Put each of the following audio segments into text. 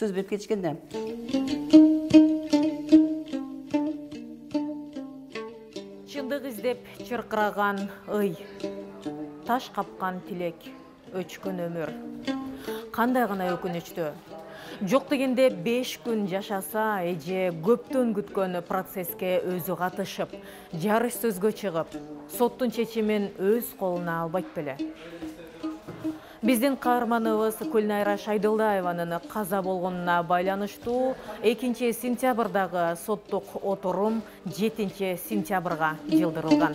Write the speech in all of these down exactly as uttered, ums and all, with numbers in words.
сөз берип кетишкен да. Чындык издеп чыркыраган ый, таш капкан тилек, өчкөн өмүр. Кандай гана өкүнүчтүү. Жок дегенде беш күн жашаса, эже көптөн күткөн процесске өзү катышып, жарыш сөзгө чыгып, соттун чечимин өз колуна албайт беле. Биздин каарманыбыз Кулнайра Шайдылдаеванын каза болгонуна байланыштуу экинчи сентябрдагы соттук отурум жетинчи сентябрга жылдырылган.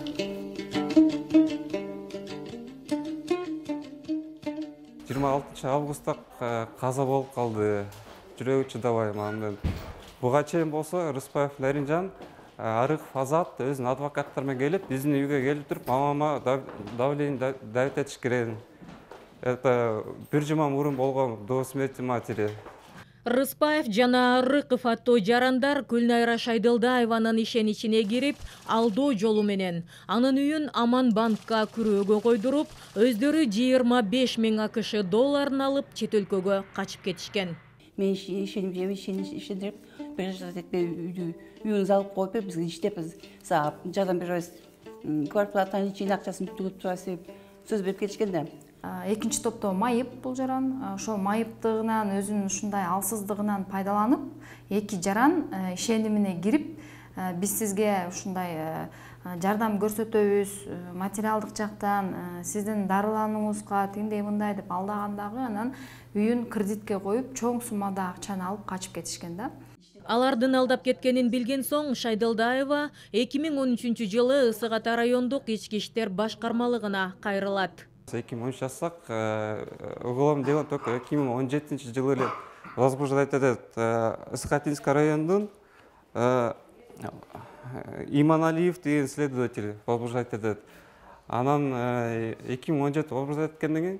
жыйырма алтынчы августта каза болуп калды. Жүрөгү чыдабай мамдан. Буга чейин болсо Рыспаев Наринжан, Арыков Азат өзүнүн адвокаттары менен келип, биздин үйгө келип туруп, мамама давление давить этишкен. Это бир жума мурун болгон до смерти матери. Рыспаев жана Арыков аттуу жарандар Кулнайра Шайдылдаеванын ишеничине кирип, алдоо жолу менен анын үйүн Аман банкка күрөөгө койдуруп, өздөрү жыйырма беш миң акш долларын алып чет өлкөгө качып кетишкен. Мен ишенип, ишендирип, бир үйдү үйүңүздү алып коюп бер, бизге иштеп, жардам беребиз, квартплатанын ичинде акчасын түгөп турасыз деп сөз берип кетишкен да. Экинчи топто майып бул жаран, ошол майыптыгынан, өзүнүн ушундай алсыздыгынан пайдаланып, эки жаран ишенимине кирип, биз сизге ушундай жардам көрсөтөбүз, материалдык жактан сиздин дарыланууңузга тиндей мындай деп алдагандагы, анан үйүн кредитке коюп, чоң суммада акчаны алып качып кетишкен да. Алардын алдап кеткенин билген соң Шайдылдаева эки миң он үчүнчү жылы Ысык Ата райондук ички иштер башкармалыгына кайрылат. эки миң он үч жасак, уголовное дело только эки миң он жетинчи жылы эле возбуждать этет. Ысык-Атинский райондун Иманалиев деген следователь возбуждать этет. Анан эки миң он жети возбуждать эткенден кийин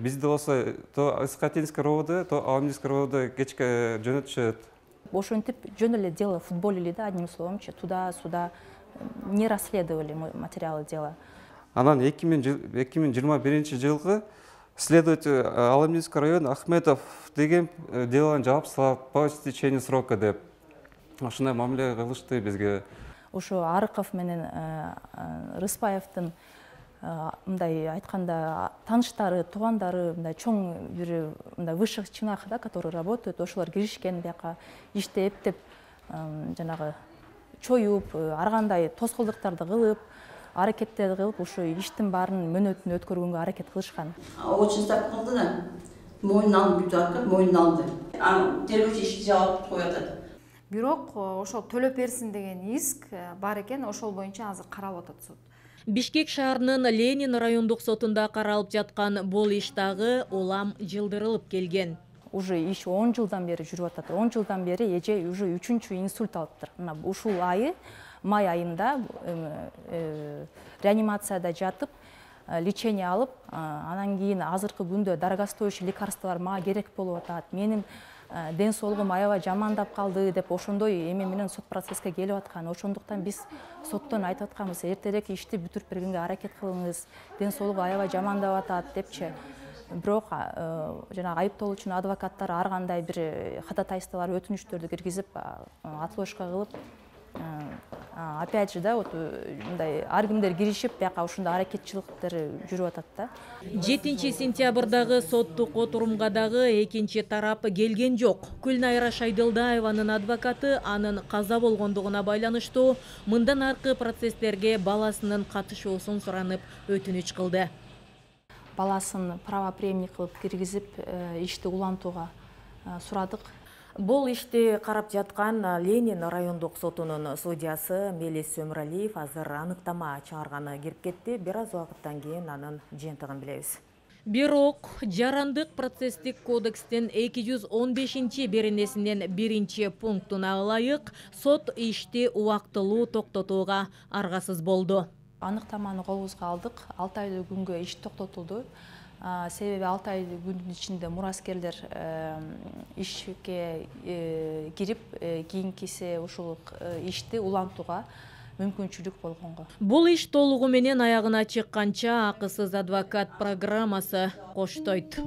бизде болсо то Ысык-Атинский РОВД, то Алминский РОВД кечке жөнөтүшөт. Ошентип жөн эле дело футболили да, одним словом, туда-сюда не расследовали материалы дела. Анан эки миң жыйырма биринчи жылгы следователь Алминский район Ахметов деген делону жаап салат по истечению срока деп. Ошондой мамиле кылышты бизге. Ошо Арыков менен Рыспаевдин мындай айтканда тааныштары, туугандары, мындай чоң бир мындай высших чинах, да, которые работают, ошолор киришкен бияка иштеп деп, жанагы чоюп, ар кандай тоскоолдуктарды кылып, аракеттерди кылып, ошо иштин баарын мөөнөтүн өткөргөнгө аракет кылышкан. Очень ставка кылды да. Мойнун алып бүтүп аткан, мойнун алды. Анан тергөөчү ишти жабып коюп атат. Бирок ошол төлөп берсин деген иск бар экен, ошол боюнча азыр каралып атат суд. Бишкек шаарынын Ленин райондук сотунда каралып жаткан бул иш дагы улам жылдырылып келген. Уже иш он жылдан бери жүрүп атат. он жылдан бери эже уже үчүнчү инсульт алыптыр. Мына ушул айы май айында реанимацияда жатып, лечение алып, анан кийин азыркы күндө дорогостоящий лекарстволор мага керек болуп атат. Менин ден соолугум аябай жамандап калды деп ошондой эме менен сот процесске келип аткан. Ошондуктан биз соттон айтып атканбыз, эртерээк ишти бүтүрүп бергенге аракет кылыңыз. Ден соолугу аябай жамандап атат депчи. Бирок жана айыптоолуучунун адвокаттары ар кандай бир ходатайстволор, өтүнүчтөрдү киргизип, отложка кылып, опять же да, вот мындай ар кимдер киришип, бияка ушундай аракетчиликтер жүрүп атат да. жетинчи сентябрдагы соттук отурумга дагы экинчи тарап келген жок. Кулнайра Шайдылдаеванын адвокаты анын каза болгондугуна байланыштуу мындан аркы процесстерге баласынын катышуусун суранып өтүнүч кылды. Баласын правопреемник кылып киргизип, ишти улантууга сурадык. Бул ишти карап жаткан Ленин райондук сотунун судьясы Мелис Өмүралиев азыр аныктама чыгарганы кирип кетти. Бир аз убакыттан кийин анын жыйынтыгын билебиз. Бирок жарандык процесстик кодекстин эки жүз он бешинчи беренесинин биринчи пунктуна ылайык сот ишти убактылуу токтотууга аргасыз болду. Аныктаманы колубузга алдык. алты ай күнгө иш токтотулду. Себеби алты ай күндүн ичинде мураскерлер ишке кирип, кийинкиси ушул ишти улантууга мүмкүнчүлүк болгонго. Бул иш толугу менен аягына чыкканча акысыз адвокат программасы коштойт.